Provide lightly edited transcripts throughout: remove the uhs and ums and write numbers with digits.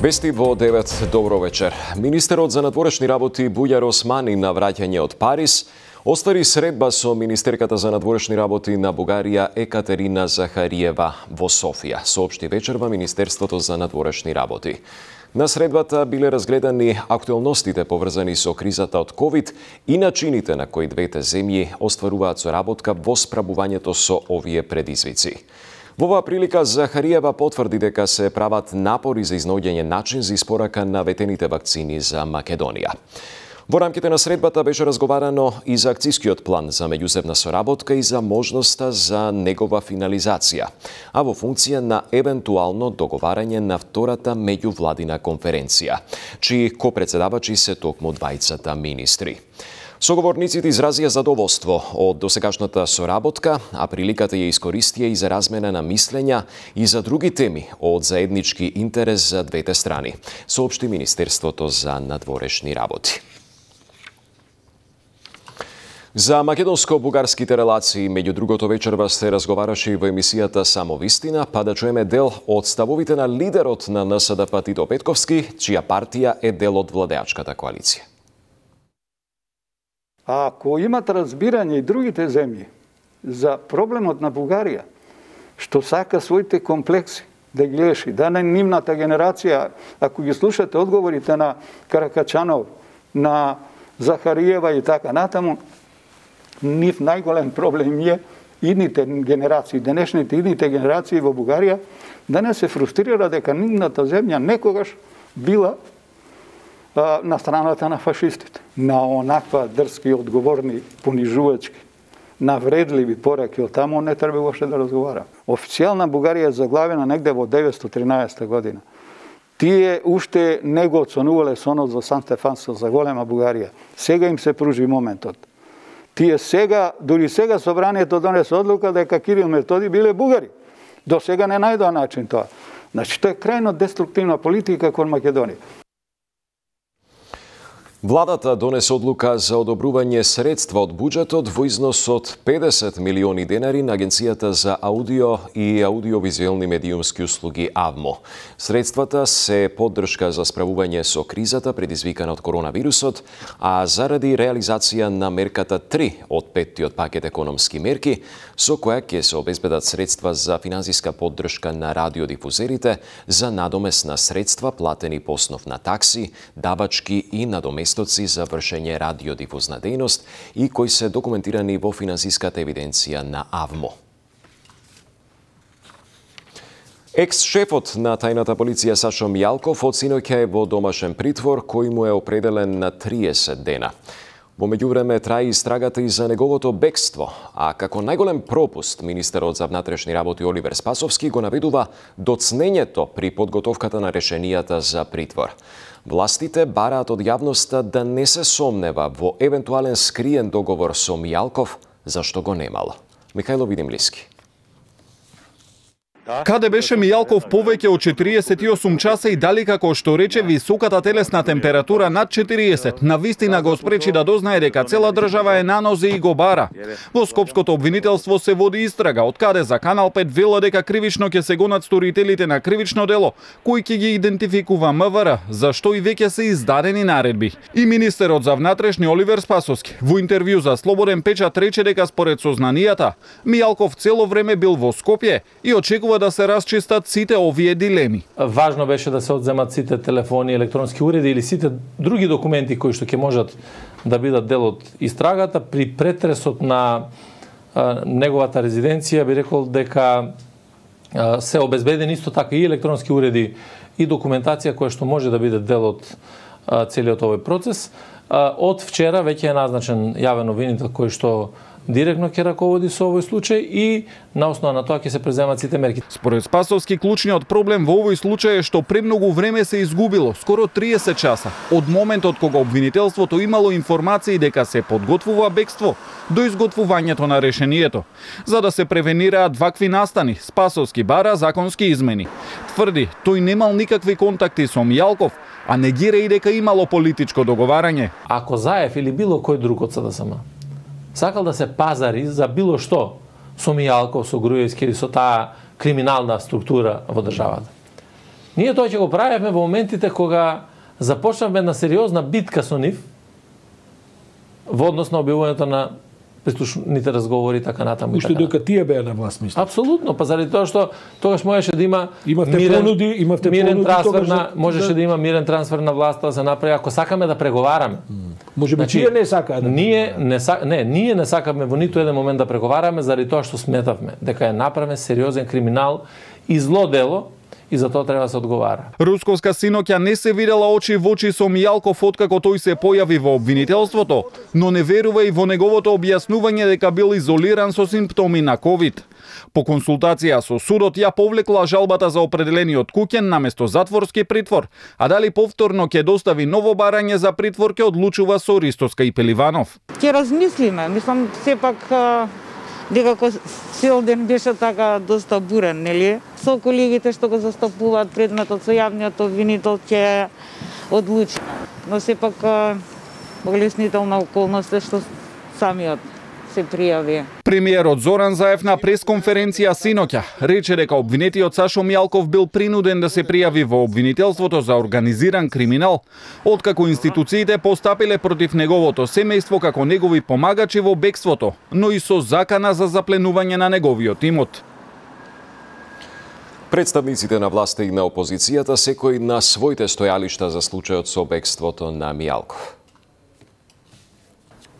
Вести во 9. Добро вечер. Министерот за надворешни работи Бујар Османи на враќање од Париз оствари средба со министерката за надворешни работи на Бугарија Екатерина Захариева во Софија, соопшти вечерва Министерството за надворешни работи. На средбата биле разгледани актуелностите поврзани со кризата од ковид и начините на кои двете земји остваруваат соработка во справувањето со овие предизвици. Во оваа прилика Захариева потврди дека се прават напори за изнаоѓање начин за испорака на ветените вакцини за Македонија. Во рамките на средбата беше разговарано и за акцискиот план за меѓуземна соработка и за можноста за негова финализација, а во функција на евентуално договарање на втората меѓувладина конференција, чии копредседавачи се токму двајцата министри. Соговорниците изразија задоволство од досегашната соработка, а приликата ја искористија и за размена на мислења и за други теми од заеднички интерес за двете страни, соопшти Министерството за надворешни работи. За македонско-бугарските релации, меѓу другото вечерва се разговараше и во емисијата Само вистина, па да чуеме дел од ставовите на лидерот на НСДП Тито Петковски, чија партија е дел од владеачката коалиција. Ако имат разбирање и другите земји за проблемот на Бугарија, што сака своите комплекси да ги реши, да не нивната генерација, ако ги слушате одговорите на Каракачанов, на Захариева и така натаму, нив најголем проблем е идните генерации, денешните идните генерации во Бугарија, да не се фрустрира дека нивната земја некогаш била на страната на фашистите, на онаква дрски, одговорни, понижувачки, навредливи пораки од таму не треба воопште да разговара. Официјална Бугарија е заглавена негде во 913 година. Тие уште не го оценувале сонот за Сан Стефансо за голема Бугарија. Сега им се пружи моментот. Тие сега, дури сега собранието донесе одлука дека Кирил Методи биле бугари. До сега не најдоа начин тоа. Значи, тоа е крајно деструктивна политика кон Македонија. Владата донесе одлука за одобрување средства од буџетот во износ од 50 милиони денари на Агенцијата за аудио и аудиовизуелни медиумски услуги АВМО. Средствата се поддршка за справување со кризата предизвикана од коронавирусот, а заради реализација на мерката 3 од 5-тиот пакет економски мерки, со која ќе се обезбедат средства за финансиска поддршка на радиодифузерите, за надомесна средства платени по основ на такси, давачки и надоместоци за вршење радиодифузна дејност и кои се документирани во финансиската евиденција на АВМО. Екс-шефот на тајната полиција Сашо Мијалков од синоќа е во домашен притвор кој му е определен на 30 дена. Во меѓувреме трае истрагата и за неговото бегство, а како најголем пропуст министерот за внатрешни работи Оливер Спасовски го наведува доцнењето при подготовката на решенијата за притвор. Властите бараат од јавноста да не се сомнева во евентуален скриен договор со Мијалков, зашто го немало. Михајло Видимлиски. Каде беше Мијалков повеќе од 48 часа и дали, како што рече, високата телесна температура над 40 на вистина го спречи да дознае дека цела држава е на нозе и го бара. Во Скопското обвинителство се води истрага, од каде за Канал 5 вела дека кривично ќе се гонат сторителите на кривично дело, кои ќе ги идентификува МВР, зашто и веќе се издадени наредби. И министерот за внатрешни Оливер Спасовски во интервју за Слободен печат рече дека според сознанијата, Мијалков цело време бил во Скопје и очекува да се расчистат сите овие дилеми. Важно беше да се одземат сите телефони, електронски уреди или сите други документи кои што ќе можат да бидат дел од истрагата. При претресот на неговата резиденција би рекол дека се обезбедени исто така и електронски уреди и документација која што може да биде дел од целиот овој процес. Од вчера веќе е назначен јавен обвинител кој што директно ќе раководи со овој случај и на основа на тоа ќе се преземат сите мерки. Според Спасовски, клучниот проблем во овој случај е што премногу време се изгубило, скоро 30 часа, од моментот кога обвинителството имало информации дека се подготвува бегство до изготвувањето на решението. За да се превенираат вакви настани, Спасовски бара законски измени. Тврди, тој немал никакви контакти со Мијалков, а негира и дека имало политичко договарање. Ако Заев или било кој друг од СДСМ сакал да се пазари за било што со Мијалков, со Груевски или со таа криминална структура во државата, Ние тоа ќе го правевме во моментите кога започнавме една сериозна битка со нив во однос на објавувањето на прислушните разговори така натаму. Уште дека тие беа на власт, мислам. Апсолутно, па заради тоа што тогаш можеше да има мирен трансфер на можеше да има мирен трансфер на власта да се направи ако сакаме да преговараме. Можеби тие не сакаат. Ние не сакаме во ниту еден момент да преговараме заради тоа што сметавме дека е направен сериозен криминал и зло дело и за тоа треба да се одговара. Русковска синоќа не се видела очи во очи со Мијалков откако тој се појави во обвинителството, но не верува и во неговото објаснување дека бил изолиран со симптоми на ковид. По консултација со судот ја повлекла жалбата за определениот куќен наместо затворски притвор, а дали повторно ќе достави ново барање за притвор ќе одлучува со Ристоска и Пеливанов. Ќе размислиме, мислам сепак дека цел ден беше така доста бурен, нели? Со колегите што го застапуваат предметот со јавниот обвинител ќе одлучи. Но сепак олеснителна околност е што самиот се пријави. Премиерот Зоран Заев на пресконференција синоќа рече дека обвинетиот Сашо Мијалков бил принуден да се пријави во обвинителството за организиран криминал, откако институциите постапиле против неговото семејство како негови помагачи во бегството, но и со закана за запленување на неговиот имот. Представниците на власта и на опозицијата секој на своите стојалишта за случајот со бегството на Мијалков.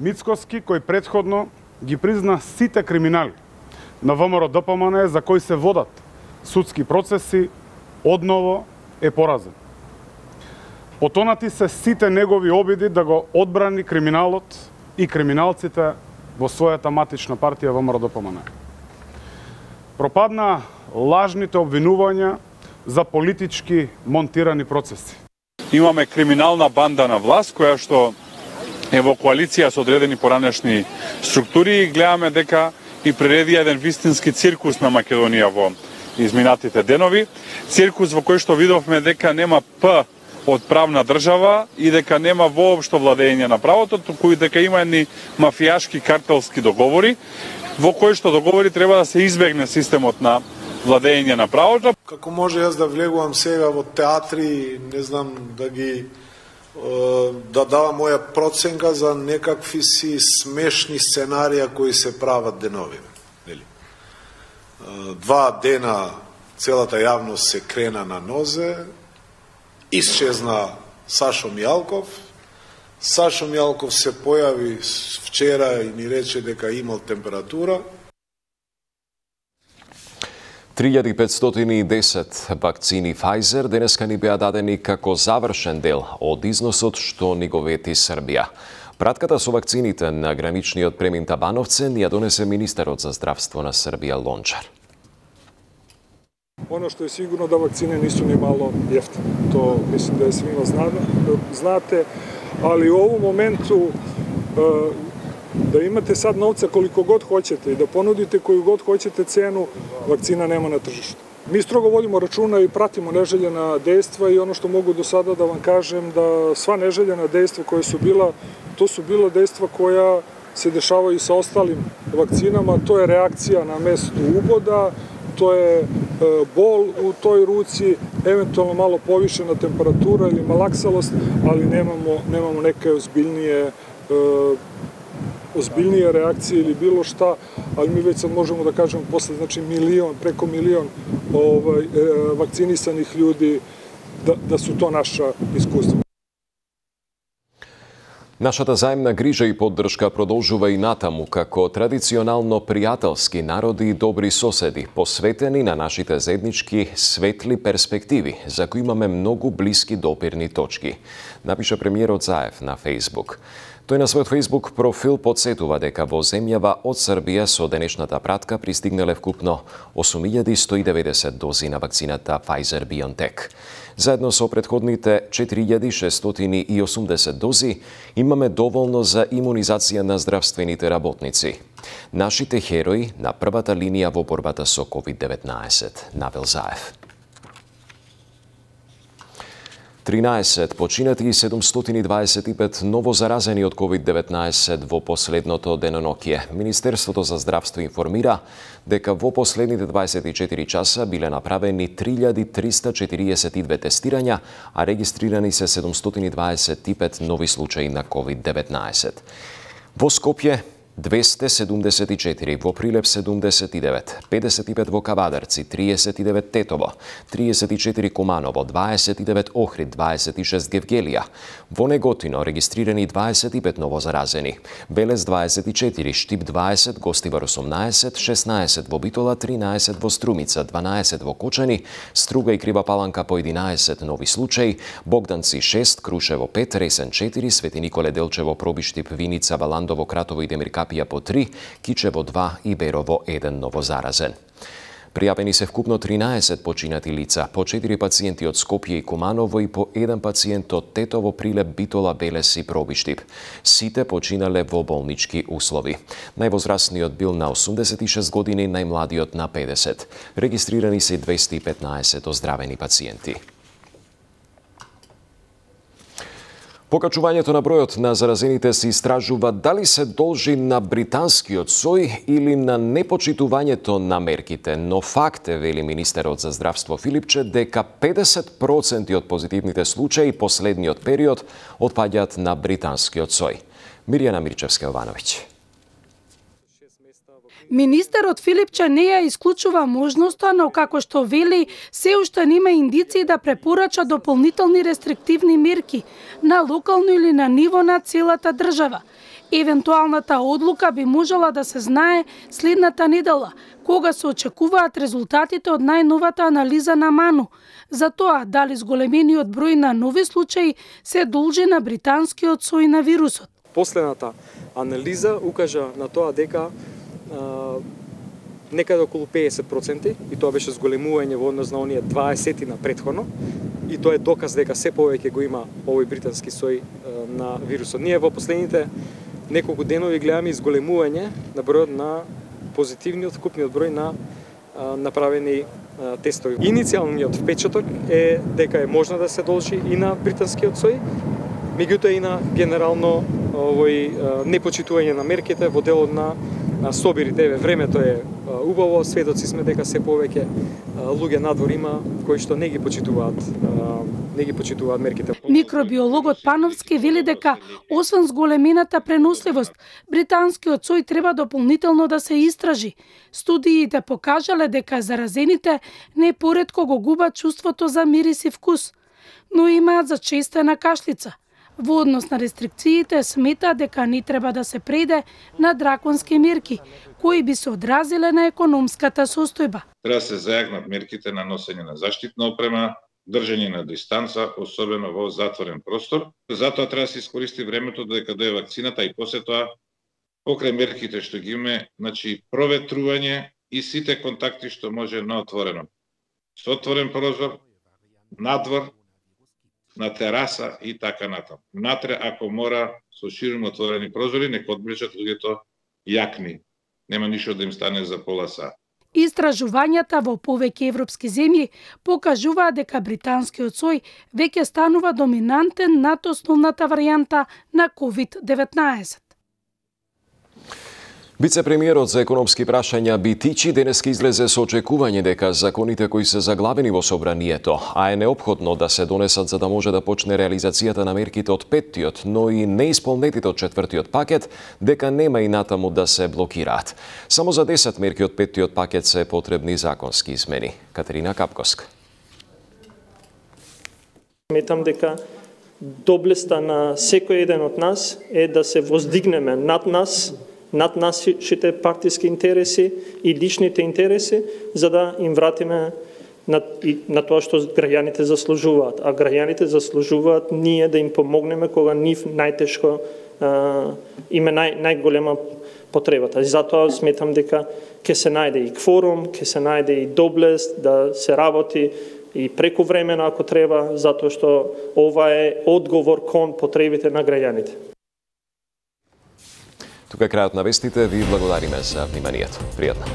Мицкоски, кој претходно ги призна сите криминали на ВМРО ДПМН за кои се водат судски процеси, одново е поразен. Потонати се сите негови обиди да го одбрани криминалот и криминалците во својата матична партија ВМРО ДПМН. Пропадна лажните обвинувања за политички монтирани процеси. Имаме криминална банда на власт која што е во коалиција со одредени поранешни структури и гледаме дека и приреди еден вистински циркус на Македонија во изминатите денови. Циркус во кој што видовме дека нема П од правна држава и дека нема воопшто владење на правото, туку и дека има едни мафијашки картелски договори, во кои што договори треба да се избегне системот на владење на правото. Како може јас да влегувам сега во театри, не знам, да давам моја проценка за некакви си смешни сценарија кои се прават денови. 2 дена целата јавност се крена на нозе, исчезна Сашо Мијалков. Сашо Мијалков се појави вчера и ни рече дека имал температура. 3510 вакцини Pfizer денеска ни беа дадени како завршен дел од износот што ни го вети Србија. Пратката со вакцините на граничниот премин Табановце ни ја донесе министерот за здравство на Србија Лончар. Ono što je sigurno da vakcine nisu ni malo jeftine. To mislim da je svima znate, ali u ovom momentu da imate sad novca koliko god hoćete i da ponudite koju god hoćete cenu, vakcina nema na tržištu. Mi strogo vodimo računa i pratimo neželjena dejstva i ono što mogu do sada da vam kažem da sva neželjena dejstva koja su bila, to su bila dejstva koja se dešavaju i sa ostalim vakcinama, to je reakcija na mestu uboda, to je bol u toj ruci, eventualno malo povišena temperatura ili malaksalost, ali nemamo neke ozbiljnije reakcije ili bilo šta, ali mi već sad možemo da kažemo posle, znači preko milion vakcinisanih ljudi, da su to naša iskustva. Нашата заемна грижа и поддршка продолжува и натаму како традиционално пријателски народи и добри соседи, посветени на нашите заеднички светли перспективи, за кои имаме многу блиски допирни точки, напиша премиерот Заев на Facebook. Тој на својот Facebook профил подсетува дека во земјава од Србија со денешната пратка пристигнале вкупно 8190 дози на вакцината Pfizer-BioNTech. Заедно со претходните 4680 дози имаме доволно за имунизација на здравствените работници. Нашите херои на првата линија во борбата со COVID-19, навел Заев. 13 починати и 725 ново заразени од COVID-19 во последното деноноќие. Министерството за здравство информира дека во последните 24 часа биле направени 3342 тестирања, а регистрирани се 725 нови случаи на COVID-19. Во Скопје 274, во Прилеп 79, 55 во Кавадарци, 39 Тетово, 34 Куманово, 29 Охрид, 26 Гевгелија. Во Неготино регистрирани 25 ново заразени. Белес 24, Штип 20, Гостивар 18, 16 во Битола, 13 во Струмица, 12 во Кочани, Струга и Крива Паланка по 11 нови случаи, Богданци 6, Крушево 5, Ресен 4, Свети Николе Делчево, Пробиштип, Виница, Валандово, Кратово и Демиркапија по 3, Кичево 2 и Берово 1 ново заразен. Пријавени се вкупно 13 починати лица, по 4 пациенти од Скопје и Куманово и по 1 пациент од Тетово, Прилеп, Битола, Белес и Пробиштип. Сите починале во болнички услови. Највозрастниот бил на 86 години, најмладиот на 50. Регистрирани се 215 оздравени пациенти. Покачувањето на бројот на заразените се истражува дали се должи на британскиот сој или на непочитувањето на мерките, но факт е, вели министерот за здравство Филипче, дека 50% од позитивните случаи последниот период отпаѓаат на британскиот сој. Мирјана Мирчевска-Јовановиќ. Министерот Филипче не ја исклучува можноста, но како што вели, се уште нема индиции да препорача дополнителни рестриктивни мерки на локално или на ниво на целата држава. Евентуалната одлука би можела да се знае следната недела, кога се очекуваат резултатите од најновата анализа на МАНУ, за тоа дали зголемениот број на нови случаи се должи на британскиот сој на вирусот. Последната анализа укажа на тоа дека некаде околу 50%, и тоа беше зголемување во однос на оние 20 на претходно, и тоа е доказ дека се повеќе го има овој британски сој на вирусот. Ние во последните неколку денови гледаме изголемување на бројот на позитивниот вкупниот број на направени тестови. Иницијалниот впечаток е дека е можно да се должи и на британскиот сој, меѓутоа и на генерално овој непочитување на мерките во делот на собирите. Времето е убаво, сведоци сме дека се повеќе луѓе надвор има кои што не ги почитуваат мерките. Микробиологот Пановски вели дека освен зголемената преносливост, британскиот сој треба дополнително да се истражи. Студиите покажале дека заразените не поретко го губат чувството за мирис и вкус, но имаат зачестена кашлица. Во однос на рестрикциите смета дека не треба да се прејде на драконски мерки, кои би се одразиле на економската состојба. Треба да се зајакнат мерките на носење на заштитна опрема, држање на дистанца, особено во затворен простор. Затоа треба да се искористи времето додека дое вакцината и после тоа, покрај мерките што ги имаме, проветрување и сите контакти што може на отворено. Со отворен прозор, надвор, на тераса и така натаму. Натре, ако мора, со широко отворени прозори, нека одближат луѓето јакни. Нема ништо да им стане за пола сат. Истражувањата во повеќе европски земји покажуваат дека британскиот сој веќе станува доминантен над основната варијанта на COVID-19. Вице-премиерот за економски прашања Битичи денеска излезе со очекување дека законите кои се заглавени во собранието, а е неопходно да се донесат за да може да почне реализацијата на мерките од петтиот, но и неисполнетите од четвртиот пакет, дека нема и натаму да се блокираат. Само за 10 мерки од петтиот пакет се потребни законски измени. Катерина Капковска. Сметам дека доблеста на секој еден од нас е да се воздигнеме над нашите партиски интереси и личните интереси, за да им вратиме на тоа што граѓаните заслужуваат. А граѓаните заслужуваат ние да им помогнеме кога нив најтешко има најголема потребата. И затоа сметам дека ќе се најде и кворум, ќе се најде и доблест да се работи и преку времено ако треба, затоа што ова е одговор кон потребите на граѓаните. Тука е крајот на вестите, ви благодариме за вниманието. Пријатно.